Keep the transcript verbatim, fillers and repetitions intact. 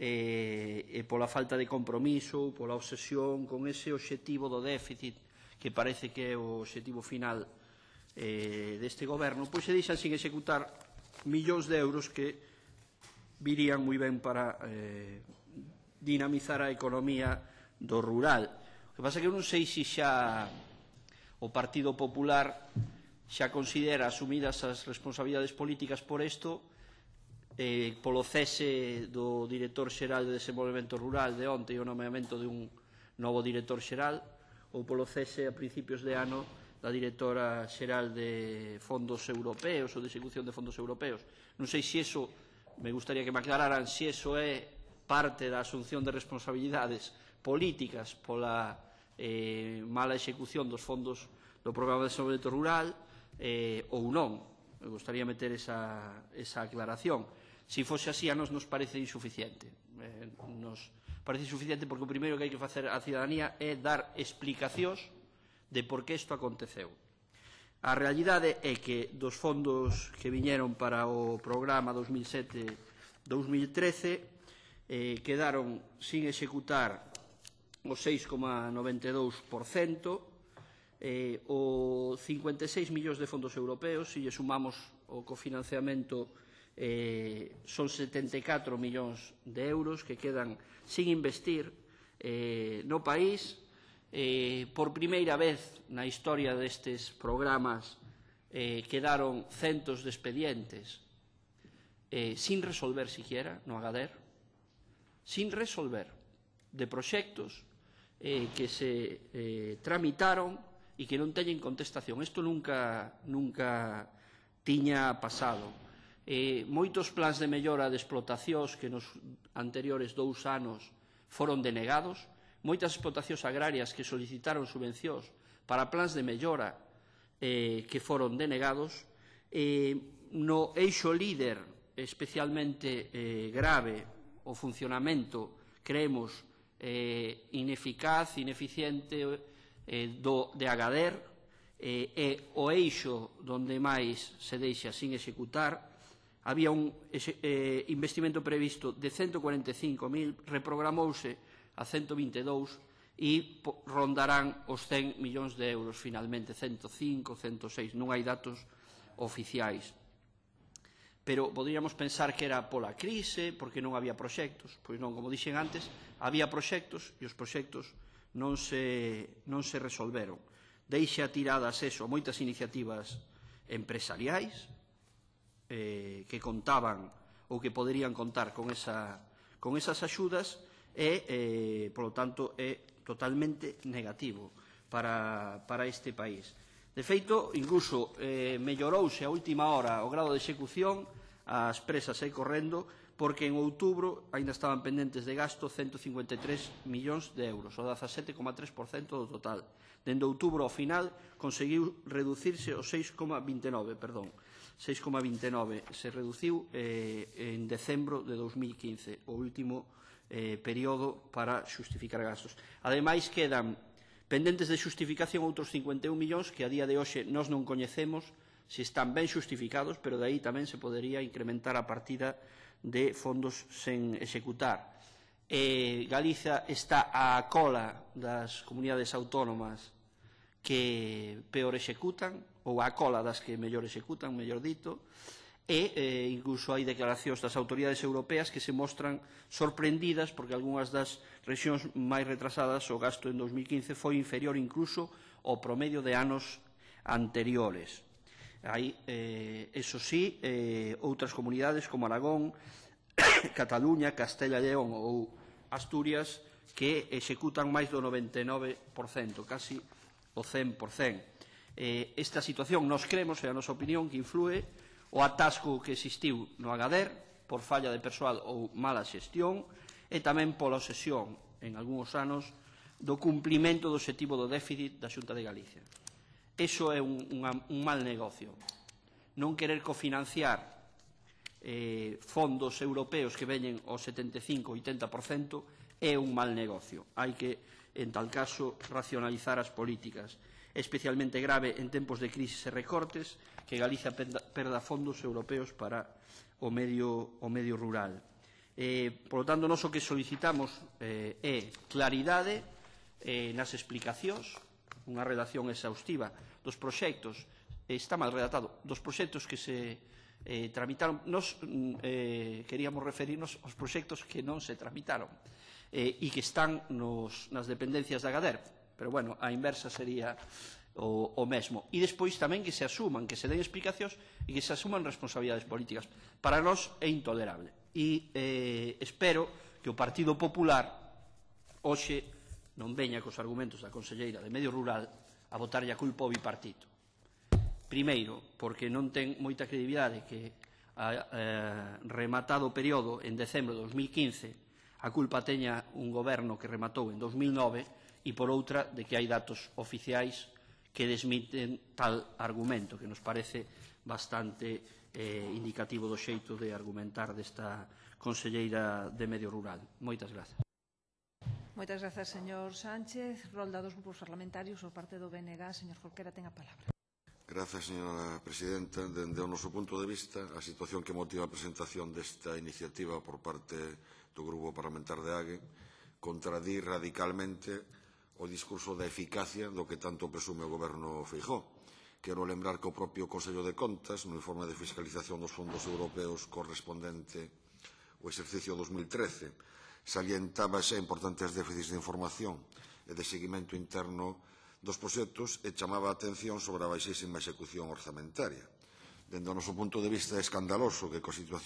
e, e pola falta de compromiso, pola obsesión con ese obxectivo do déficit que parece que é o obxectivo final eh, deste goberno, pois se deixan sin executar millóns de euros que virían moi ben para eh, dinamizar a economía do rural. O que pasa é que eu non sei se xa o Partido Popular xa considera asumidas as responsabilidades políticas por isto, eh, polo cese do director xeral de Desenvolvemento Rural de onte e o nomeamento de un novo director xeral, ou polo cese a principios de ano da directora xeral de fondos europeos ou de execución de fondos europeos. Non sei se iso, me gustaría que me aclararan, se iso é parte da asunción de responsabilidades políticas pola eh, mala execución dos fondos do Programa de Desenvolvemento Rural eh, ou non. Me gustaría meter esa, esa aclaración. Se fose así, a nos nos parece insuficiente. Eh, nos parece insuficiente porque o primeiro que hai que facer á cidadanía é dar explicacións de por que isto aconteceu. A realidade é que dos fondos que viñeron para o programa dos mil sete dos mil trece eh, quedaron sin executar o seis coma noventa e dous por cento, eh, o cincuenta e seis millóns de fondos europeos, se lle sumamos o cofinanciamento, eh, son setenta e catro millóns de euros que quedan sin investir eh, no país. Eh, por primeira vez na historia destes programas eh, quedaron centos de expedientes eh, sin resolver siquiera no Agadir, sin resolver, de proxectos eh, que se eh, tramitaron e que non teñen contestación. Isto nunca, nunca tiña pasado. Eh, moitos plans de mellora de explotacións que nos anteriores dous anos foron denegados, moitas explotacións agrarias que solicitaron subvencións para plans de mellora eh, que foron denegados, eh, no eixo líder especialmente eh, grave o funcionamento, creemos, eh, ineficaz, ineficiente eh, do, de Agadir, eh, e o eixo donde máis se deixa sin executar. Había un eh, investimento previsto de ciento cuarenta e cinco mil, reprogramouse a ciento vinte e dous e rondarán os cen millóns de euros finalmente, ciento cinco, ciento seis, non hai datos oficiais. Pero poderíamos pensar que era pola crise, porque non había proxectos. Pois non, como dixen antes, había proxectos e os proxectos non se, non se resolveron. Deixa tiradas eso, moitas iniciativas empresariais eh, que contaban ou que poderían contar con, esa, con esas axudas e, eh, polo tanto, é totalmente negativo para, para este país. De feito, incluso eh, mellorouse a última hora o grado de execución, as presas aí correndo, porque en outubro ainda estaban pendentes de gasto ciento cincuenta e tres millóns de euros, o dezasete coma tres por cento do total. Dende outubro ao final conseguiu reducirse o seis coma vinte e nove, perdón, seis coma vinte e nove se reduciu eh, en decembro de dos mil quince, o último eh, período para xustificar gastos. Ademais, quedan pendentes de xustificación outros cincuenta e un millóns que a día de hoxe nós non coñecemos se están ben xustificados, pero de aí tamén se podería incrementar a partida de fondos sen executar. Eh, Galiza está á cola das comunidades autónomas que peor executan, ou á cola das que mellor executan, mellor dito, e eh, incluso hai declaracións das autoridades europeas que se mostran sorprendidas porque algunhas das rexións máis retrasadas o gasto en dos mil quince foi inferior incluso ao promedio de anos anteriores. Hai, eh, eso sí, eh, outras comunidades como Aragón, Cataluña, Castella e León ou Asturias que executan máis do noventa e nove por cento, casi o cen por cento. Eh, esta situación nos creemos, é a nosa opinión, que influe o atasco que existiu no Agadir por falla de persoal ou mala xestión e tamén pola obsesión, en algúns anos, do cumprimento do obxectivo do déficit da Xunta de Galicia. Iso é un, unha, un mal negocio. Non querer cofinanciar eh, fondos europeos que veñen ao setenta e cinco a oitenta por cento é un mal negocio. Hai que, en tal caso, racionalizar as políticas. É especialmente grave en tempos de crisis e recortes que Galicia perda fondos europeos para o medio, o medio rural. Eh, por lo tanto, nós o que solicitamos eh, é claridade eh, nas explicacións, unha redacción exhaustiva dos proxectos, eh, está mal redactado, dos proxectos que se eh, tramitaron. Nos eh, queríamos referirnos aos proxectos que non se tramitaron eh, e que están nos, nas dependencias da Gader, pero, bueno, a inversa sería o, o mesmo. E despois tamén que se asuman, que se den explicacións e que se asuman responsabilidades políticas. Para nós é intolerable. E eh, espero que o Partido Popular hoxe non veña cos argumentos da conselleira de Medio Rural a botarlle a culpa ao bipartito. Primeiro, porque non ten moita credibilidade que a, eh, rematado o período en decembro de dos mil quince a culpa teña un goberno que rematou en dos mil nove e por outra de que hai datos oficiais que desmiten tal argumento, que nos parece bastante eh, indicativo do xeito de argumentar desta conselleira de Medio Rural. Moitas grazas. Moitas grazas, señor Sánchez. Rolda dos grupos parlamentarios, por parte do B N G, señor Jorquera, ten a palabra. Grazas, señora presidenta. Dende o noso punto de vista, a situación que motiva a presentación desta iniciativa por parte do Grupo Parlamentar de A G E contradí radicalmente o discurso da eficacia do que tanto presume o Goberno Feijóo. Quero lembrar que o propio Consello de Contas, no informe de fiscalización dos fondos europeos correspondente ao exercicio dos mil trece, salientaba xa importantes déficits de información e de seguimento interno dos proxectos e chamaba a atención sobre a baixísima execución orzamentaria. Dende o noso punto de vista é escandaloso que coa situación